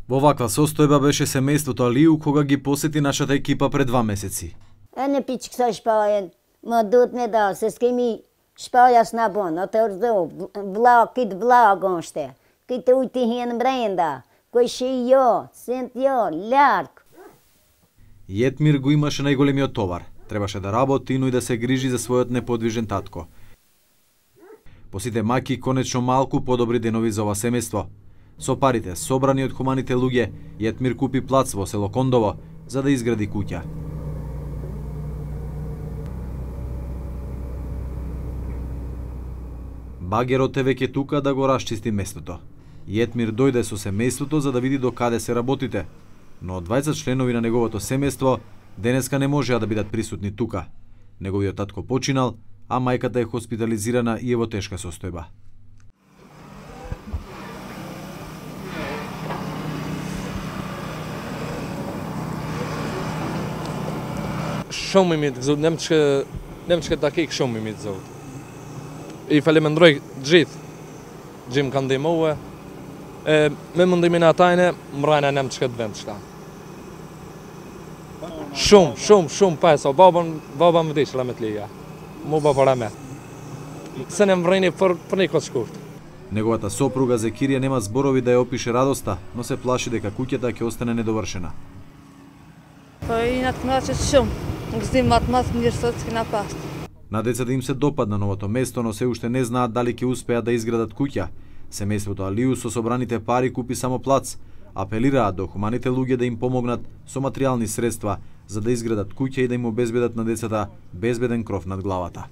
Во ваква состојба беше семејството Алију кога ги посети нашата екипа пред 2 месеци. Ene piçik saçpayen, madut ne da, ses kimi spalhas na bona, até os do vlagonste, que te uitihin brenda, кој шијо, сентјо, лярк. Јетмир го имаше најголемиот товар. Требаше да работи, но и да се грижи за својот неподвижен татко. По сите маки, конечно малку подобри денови за ова семејство. Со парите собрани од хуманите луѓе, Јетмир купи плац во село Кондово за да изгради куќа. Багерот е веќе тука да го расчисти местото. Јетмир дојде со семејството за да види до каде се работите, но 20 членови на неговото семејство денеска не можеа да бидат присутни тука. Неговиот татко починал, а мајката е хоспитализирана и е во тешка состојба. Shumë i mitë gëzut, nem që ta kik shumë i mitë zot. I falemendroj gjithë gjim kanë ndihmue, me mundimin e atajne, mrajna nem që këtë vend qëta. Shumë pesa, baba më dishla me t'lija, mu ba para me. Se ne mvrejni për një këtë shkurt. Неговата сопруга Зекирија нема зборови да ја опише радоста, но се плаши дека куќата ќе остане недовршена. И надкначат шум, гздим матмат мирсотски напаст. На децата им се допадна новото место, но се уште не знаат дали ќе успеат да изградат куќа. Семејството Алију со собраните пари купи само плац. Апелираат до хуманите луѓе да им помогнат со материјални средства за да изградат куќа и да им обезбедат на децата безбеден кров над главата.